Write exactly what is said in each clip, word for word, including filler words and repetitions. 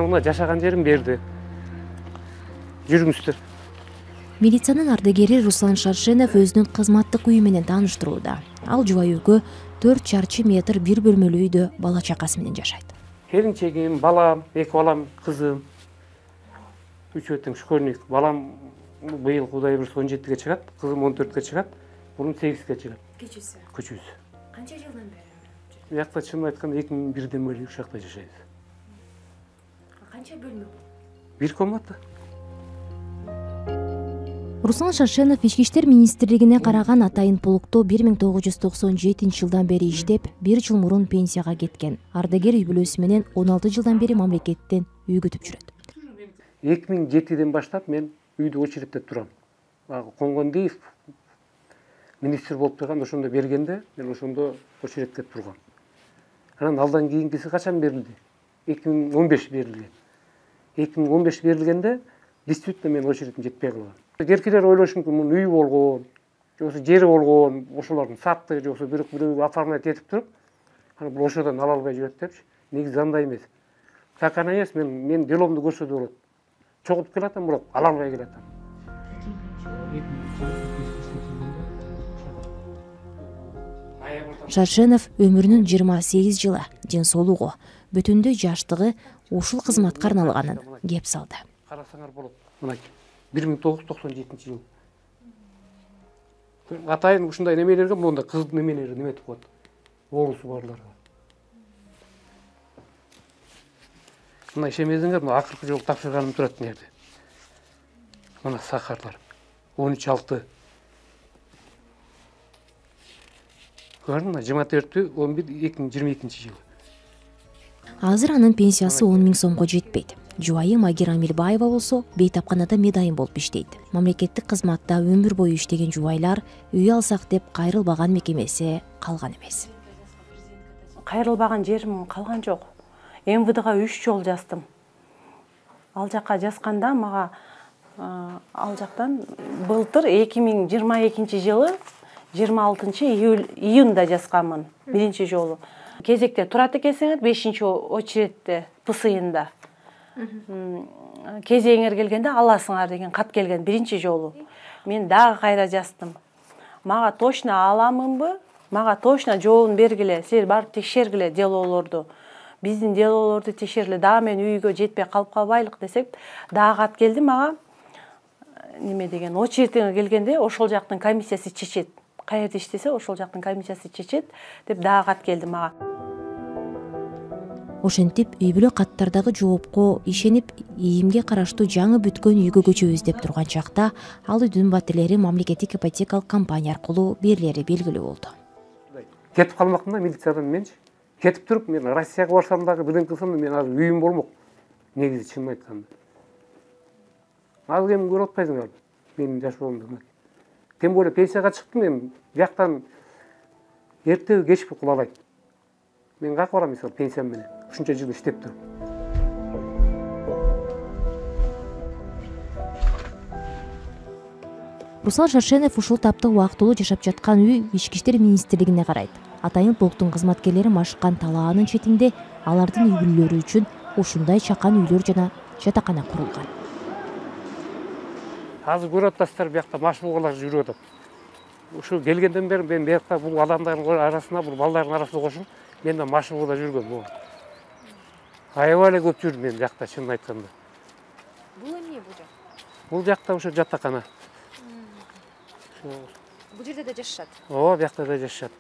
мына жашаган жерин берди. Жүрүңүздөр. Милициянын ардагери Руслан Шаршенов өзүнүн кызматтык үйү менен тааныштырууда. Ал жубайөкө төрт чарчы метр бир бөлмөлүү үйдө бала чакасы менен жашайт. Келинчегим, балам, эки балам, кызым. Үчөө тең школьник. Балам быйыл Кудай буйрса он жетиге чыгат, кызым он төрткө чыгат, мунун сегизге чыгат. Кичүүсү. Күчүүсү. Канча жылдан бери? Биякта чынын айтканда эки миң бирден бери ушул жакта жашайбыз. Канча бөлмө? Бир комната. Руслан Шаршенов Ички иштер министрлигине караган Атайын полкто бир миң тогуз жүз токсон жетинчи жылдан бери иштеп, бир жыл мурун пенсияга кеткен. Ардагер үй бүлөсү менен он алты жылдан бери мамлекеттен үй күтүп жүрөт. эки миң жетиден баштап мен үйдө очередте турам. Коңгондиев министр болуп турган ошондо бергенде мен ошондо очередте тургам. Анан алдан кийинкиси качан берилди? эки миң он беш берилген. эки миң он беш берилгенде действительно мен очередим жетпей калган. Керкилер ойлошу мүмкүн, мунун үйү болгон, жоксо жери болгон, ошолордун сатты, жоксо бирок бирөө оформлять этип туруп, анан бул ошодон ала албай жүрөт депчи. Негизи андай эмес. Так ана эмес, мен мен деломду көрсө болот. Чогулуп келатам, бирок ала албай келатам. Шаршенов өмүрүнүн жыйырма сегиз жылы ден соолугу, бүтүндөй жаштыгы ушул кызматка арналганын кеп салды. Карасаңар болот. Мына бир миң тогуз жүз токсон жетинчи жыл. Атайын ушундай немелерге монда кыздын немелери неметип коет. Оорусу барларга. Мына ишемесеңер, мына акыркы жолу тапшырганым турат нерде. Мына сахарлар. он үч алты. Көрдүңбү? жыйырма төртү он бир эки миң жыйырма экинчи жылы. Азыр анын пенсиясы он миң сомго жетпейт. Жубайы Магира Амилбаева болсо бейтапканада медайым болуп иштейт. Мамлекеттик кызматта өмүр бою иштеген жубайлар үй алсак деп кайрылбаган мекемеси калган эмес. Кайрылбаган жерим калган жок. эм вэ дэга үч жолу жаздым. Ал жакка жазганда мага ал жактан былтыр эки миң жыйырма экинчи жылы жыйырма алтынчы июнда жазганмын биринчи жолу. Кезекте турат экенсиңер бешинчи очередте пысыйында. Кезеңер келгенде аласыңар деген кат келген биринчи жолу. Мен дагы кайра жаздым. Мага точно аламынбы? Мага точно жообун бергиле. Силер барып текшергиле делоолорду. Биздин делоолорду текшергиле. Дагы мен үйгө жетпей калып калбайлык десек, дагы кат келди мага. Неме деген очередиңер келгенде ошол жактын комиссиясы чечет. Каерде иштесе ошол жактын комиссиясы чечет деп дагы кат келди мага. Ошентип үй бүлө каттардагы жоопко ишенип, ийимге караштуу жаңы бүткөн үйгө көчөбүз деп турган чакта, ал үйдүн батирлери мамлекеттик ипотекалык компания аркылуу берилери белгилүү болду. Кетип калмакмын да милициядан менчи. Кетип туруп мен Россияга барсам дагы бирден кылсам да мен азыр үйүм болмок. Негизи чынын айтканда. Ал кем көрүп атпайсыңарбы? Менин жашоомду. Тем более пенсияга чыктым мен. Бияктан эртеби кечпи кулабайт. Мен каяка барам мисалы пенсиям менен. Ушунча жыл иштеп туруп. Руслан Шаршенов ушул тапта убактылуу жашап жаткан үй Ички иштер министрлигине карайт. Атайын полктун кызматкерлери машыккан талаанын четинде алардын үй бүлөлөрү үчүн ушундай чакан үйлөр жана жатакана курулган. Азыр көрүп атасыздар, биякта машыгуулар жүрүп атат. Ушу келгенден бери мен биякта бул адамдардын арасына, бул балдардын арасына кошуп, мен да машыгууда жүргөм. Аябай эле көп жүрдүм мен жакта чынын айтканда. Бул эмне бул жак? Бул жакта ошо жатакана. Бул жерде да жашашат. Ооба, биякта да жашашат.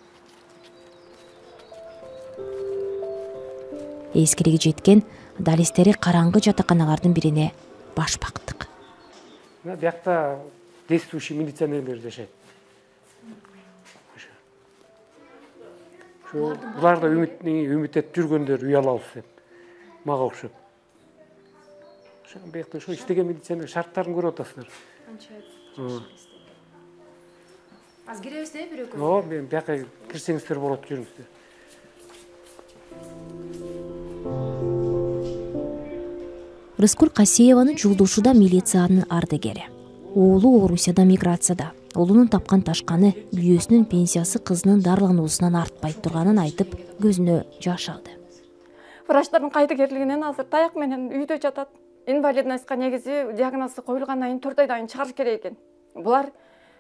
Эскириги жеткен далистери караңгы жатаканалардын бирине баш бактык. Биякта действующий милиционерлер жашайт. Булар да үмүт үмүт этип жүргөндөр үй алабыз деп. Мага окшоп. Ошо биякта ошо иштеген милиционер шарттарын көрүп атасыздар. Канча? Аз киребиз да бирөкө? Ооба, мен бияка кирсеңиздер болот, жүрүңүздөр. Рыскүл Касееванын жолдошу да милициянын ардагери. Оолу Орусияда миграцияда. Улунун тапкан ташканы күйөөсүнүн пенсиясы кызынын дарылануусунан артпайт турганын айтып, көзүнө жаш алды. Врачтардын кайдыгерлигинен азыр таяк менен үйдө жатат. Инвалидностька негизи диагнозу коюлгандан кийин төрт айдан кийин чыгарыш керек экен. Булар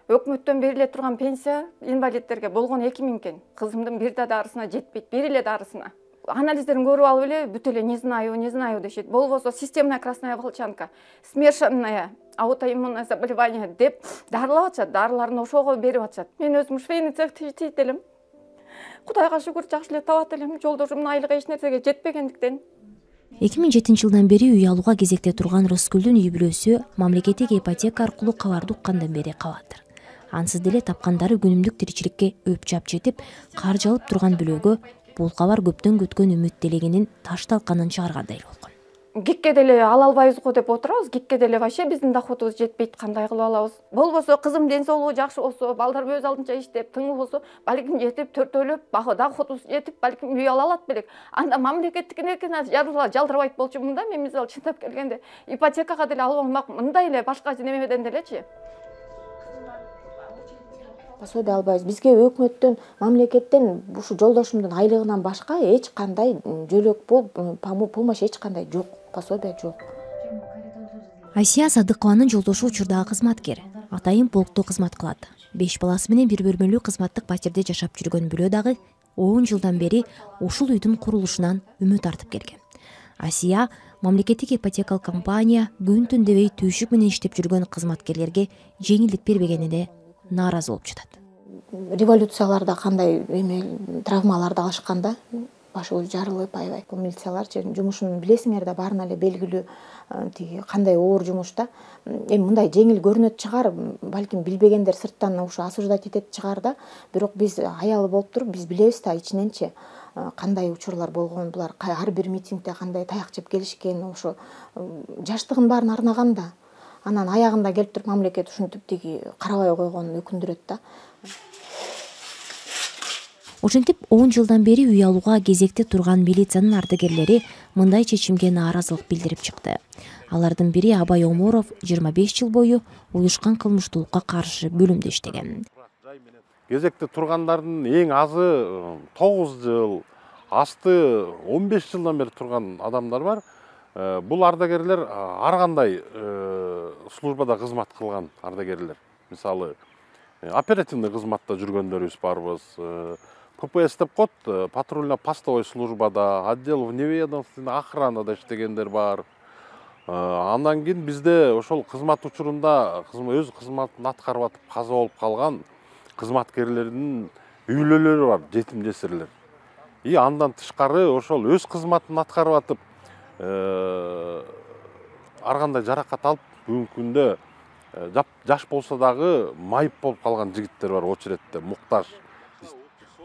өкмөттөн бериле турган пенсия инвалидтерге болгону эки миң экен. Кызымдын бир да дарысына жетпейт, бир эле дарысына. Анализдерин көрүп алып эле бүт эле не знаю, не знаю дешет. Болбосо системная красная волчанка, смешанная аутоиммунное заболевание деп дарылап атышат, дарыларын ошого берип атышат. Мен өзүм швейный цехти иштейт элем. Кудайга шүгүр, жакшы эле табат элем. Жолдошумдун айлыгы эч нерсеге жетпегендиктен. эки миң жетинчи жылдан бери үй алууга кезекте турган Рыскүлдүн үй бүлөсү мамлекеттик ипотека аркылуу кабарды уккандан бери калат. Ансыз деле тапкандары күнүмдүк тиричиликке өпчап жетип, каржы алып турган бүлөгө бул кабар көптөн күткөн үмүт делегенин таш талканын чыгаргандай болгон. Гикке деле ала албайбыз го деп отурабыз. Гикке деле вообще биздин доходубуз жетпейт, кандай кылып алабыз? Болбосо кызым ден соолугу жакшы болсо, балдарым өз алдынча иштеп, тыңы болсо, балким жетип, төртөөлөп, доходубуз жетип, балким үй ала алат белек. Анда мамлекеттикине жалдырбайт болчумун да. Мен мисалы чындап келгенде ипотекага деле алып алмак, мындай эле башка немеден делечи. Пособие албайбыз. Бизге өкмөттөн, мамлекеттен ушу жолдошумдун айлыгынан башка эч кандай жөлөк бул помощь эч кандай жок, пособие жок. Асия Садыкованын жолдошу учурдагы кызматкер. Атайын полкто кызмат кылат. беш баласы менен бир бөлмөлүү кызматтык патерде жашап жүргөн бүлө дагы он жылдан бери ушул үйдүн курулушунан үмүт артып келген. Асия мамлекеттик ипотекалык компания күн түн дебей түйшүк менен иштеп жүргөн кызматкерлерге жеңилдик бербегенине нааразы болуп жатат. Революцияларда кандай эме травмаларды алышканда башыбыз жарылып, аябай. Бул милицияларчы жумушун билесиңер да, баарына эле белгилүү тиги кандай оор жумуш да. Эми мындай жеңил көрүнөт чыгар, балким билбегендер сырттан ушу осуждать этет чыгар да. Бирок биз аялы болуп туруп, биз билебиз да ичиненчи кандай учурлар болгон, булар ар бир митингде кандай таяк жеп келишкен, ошо жаштыгын баарын арнаган да. Анан аягында келип туруп мамлекет ушинтип тиги карабай койгонун өкүндүрөт да. Ошентип он жылдан бери үй алууга кезекте турган милициянын ардагерлери мындай чечимге нааразылык билдирип чыкты. Алардын бири Абай Оморов жыйырма беш жыл бою уюшкан кылмыштуулукка каршы бөлүмдө иштеген. Кезекте тургандардын эң азы тогуз жыл, асты он беш жылдан бери турган адамдар бар. Бул ардагерлер ар кандай службада кызмат кылган ардагерлер. Мисалы, оперативный кызматта жүргөндөрүбүз барбыз. ППС деп коет, патрульно-постовой службада, отдел вневедомственной охранада иштегендер бар. Андан кийин бизде ошол кызмат учурунда өз кызматын аткарып атып каза болуп калган кызматкерлердин үйлөлөрү бар, жетим жесирлер. И андан тышкары ошол өз кызматын аткарып атып ар кандай жаракат алып, бүгүнкү күндө жаш болсо дагы майып болуп калган жигиттер бар, очередте муктаж.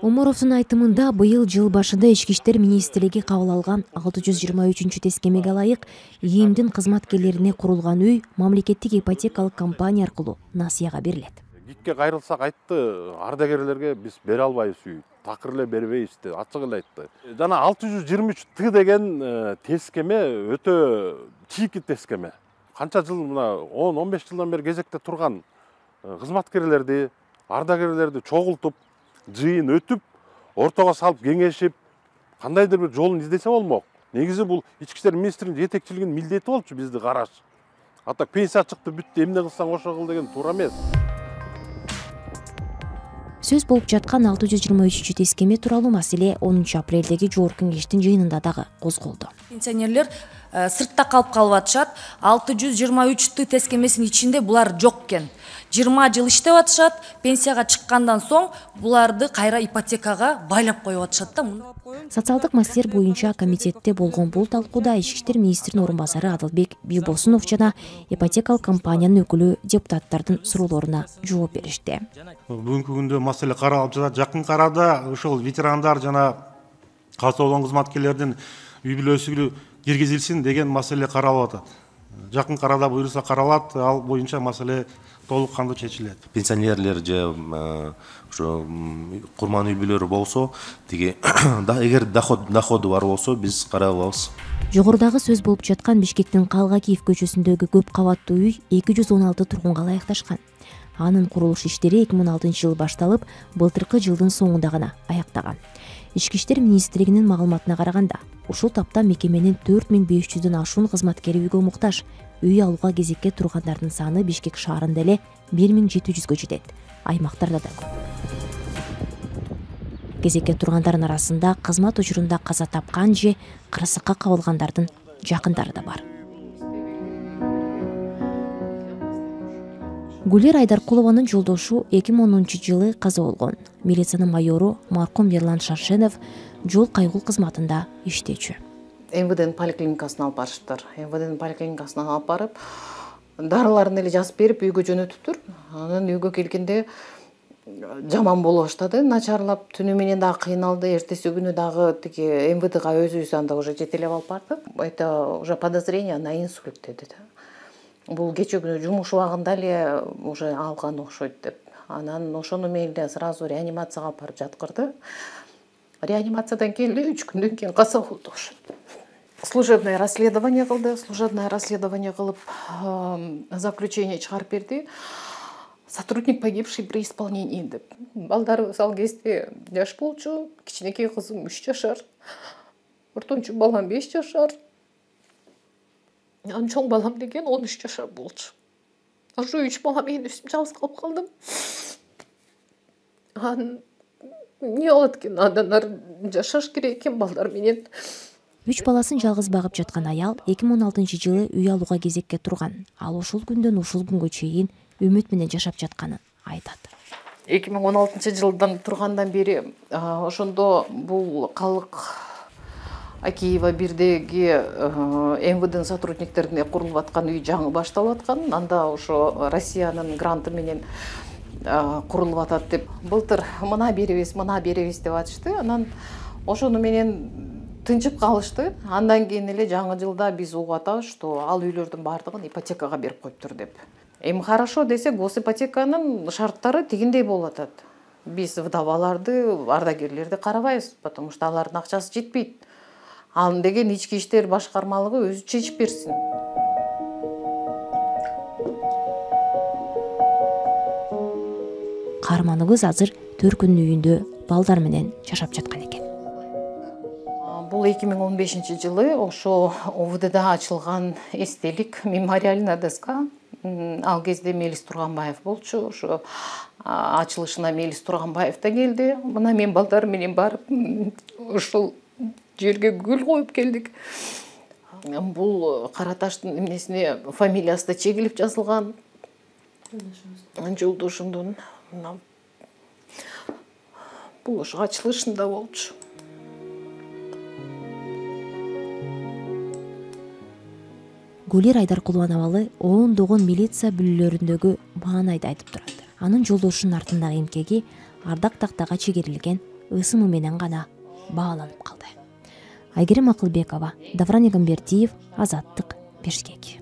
Оморовдун айтымында быйыл жыл башында Ички иштер министрлиги кабыл алган алты жүз жыйырма үчүнчү тескемеге ылайык ИИМдин кызматкерлерине курулган үй мамлекеттик ипотекалык компания аркылуу насыяга берилет. Гикке кайрылсак айтты, ардагерлерге биз бере албайбыз үй, такыр эле бербейбиз деп ачык эле айтты. Жана алты жүз жыйырма үч Т деген тескеме өтө чийки тескеме. Канча жыл мына он он беш жылдан бери кезекте турган кызматкерлерди, ардагерлерди чогултуп, жыйын өтүп, ортого салып кеңешип, кандайдыр бир жолун издесе болмок. Негизи бул Ички иштер министринин жетекчилигинин милдети болчу бизди караш. А так пенсия чыкты, бүттү, эмне кылсаң ошо кыл деген туура эмес. Сөз болуп жаткан алты жүз жыйырма үчүнчү тескеме тууралуу маселе онунчу апрелдеги жогорку кеңештин жыйынында дагы козголду. Пенсионерлер сыртта калып калып атышат. алты жүз жыйырма үч Т тескемесинин ичинде булар жок экен. жыйырма жыл иштеп атышат, пенсияга чыккандан соң буларды кайра ипотекага байлап коюп атышат да. Социалдык маселелер боюнча комитетте болгон бул талкууда Ички иштер министринин орун басары Адылбек Бийбосунов жана ипотекалык компаниянын өкүлү депутаттардын суроолоруна жооп беришти. Бүгүнкү күндө маселе каралып жатат. Жакын арада ошол ветерандар жана каза болгон кызматкерлердин үй бүлөсүгө киргизилсин деген маселе каралып атат. Жакын арада буюрса каралат, ал боюнча маселе толук кандуу чечилет. Пенсионерлер же ошо курман үй бүлөлөр болсо, тиги эгер доходу бар болсо, биз карап алабыз. Жогорудагы сөз болуп жаткан Бишкектин Калгакиев көчөсүндөгү көп кабаттуу үй эки жүз он алты тургунга ылайыкташкан. Анын курулуш иштери эки миң он алтынчы жылы башталып, былтыркы жылдын соңунда гана аяктаган. Ички иштер министрлигинин маалыматына караганда, ушул тапта мекеменин төрт миң беш жүздөн ашуун кызматкери үйгө муктаж. Үй алууга кезекке тургандардын саны Бишкек шаарында эле бир миң жети жүзгө жетет. Аймактарда да көп. Кезекке тургандардын арасында кызмат учурунда каза тапкан же кырсыкка кабылгандардын жакындары да бар. Гулир Айдаркулованын жолдошу эки миң онунчу жылы каза болгон. Милициянын майору маркум Ерлан Шаршенов жол кайгыл кызматында иштечү. эм вэ дэнин поликлиникасына алып барышыптыр. эм вэ дэнин поликлиникасына алып барып, дарыларын эле жазып берип үйгө жөнөтүптүр. Анан үйгө келгенде жаман боло баштады, начарлап, түнү менен дагы кыйналды, эртеси күнү дагы тиги эм вэ дэга өзүбүз анда уже жетелеп алып бардык. Это уже подозрение на инсульт деди да. Бул кече күнү жумуш убагында эле уже алган окшойт деп. Анан ошону менен сразу реанимацияга алып барып жаткырды. Реанимациядан кийин эле үч күндөн кийин каза болду ошо. Служебное расследование кылды, служебное расследование кылып, заключение чыгарып берди. Сотрудник, погибший при исполнении деп. Балдарыбыз ал кезде жаш болчу, кичинекей кызым үч жашар, ортончу балам беш жашар. Анан чоң балам деген он үч жашар болчу. Ошо үч бала мен өзүм жалгыз калып калдым. Анан эмне болот экен? Андан жашаш керек экен балдар менен. Үч баласын жалгыз багып жаткан аял эки миң он алтынчы жылы үй алууга кезекке турган. Ал ушул күндөн ушул күнгө чейин үмүт менен жашап жатканын айтат. эки миң он алтынчы жылдан тургандан бери ошондо бул калык Акиева бирдеги эм вэ дэнин сотрудниктерине курулуп аткан үй жаңы башталып аткан. Анда ошо Россиянын гранты менен курулуп атат деп. Былтыр мына беребиз, мына беребиз деп атышты. Анан ошону менен тынчып калышты. Андан кийин эле жаңы жылда биз угуп атабыз, что ал үйлөрдүн баардыгын ипотекага берип коюптур деп. Эми хорошо десек, госипотеканын шарттары тигиндей болуп атат. Биз вдоваларды, ардагерлерди карабайбыз, потому что алардын акчасы жетпейт. Ал деген ички иштер башкармалыгы өзү чечип берсин. Каарманыбыз азыр Төркүнүн үйүндө балдар менен жашап жаткан экен. Бул эки миң он бешинчи жылы ошо о вэ дэда ачылган эстелик, мемориальная доска. Ал кезде Мелис Турганбаев болчу. Ошо ачылышына Мелис Турганбаев да келди. Мына мен балдар менен барып, ошол жерге гүл коюп келдик. Бул кара таштын эмнесине фамилиясы да чегилип жазылган. Жолдошумдун. Бул ошо ачылышында болчу. Гулир Айдаркулованын абалы ондогон милиция бүлөлөрүндөгү маанайды айтып турат. Анын жолдошунун артындагы эмкеги Ардак тактага чегерилген ысымы менен гана бааланып калды. Айгерим Акылбекова, Давран Эгембердиев, Азаттык, Бишкек.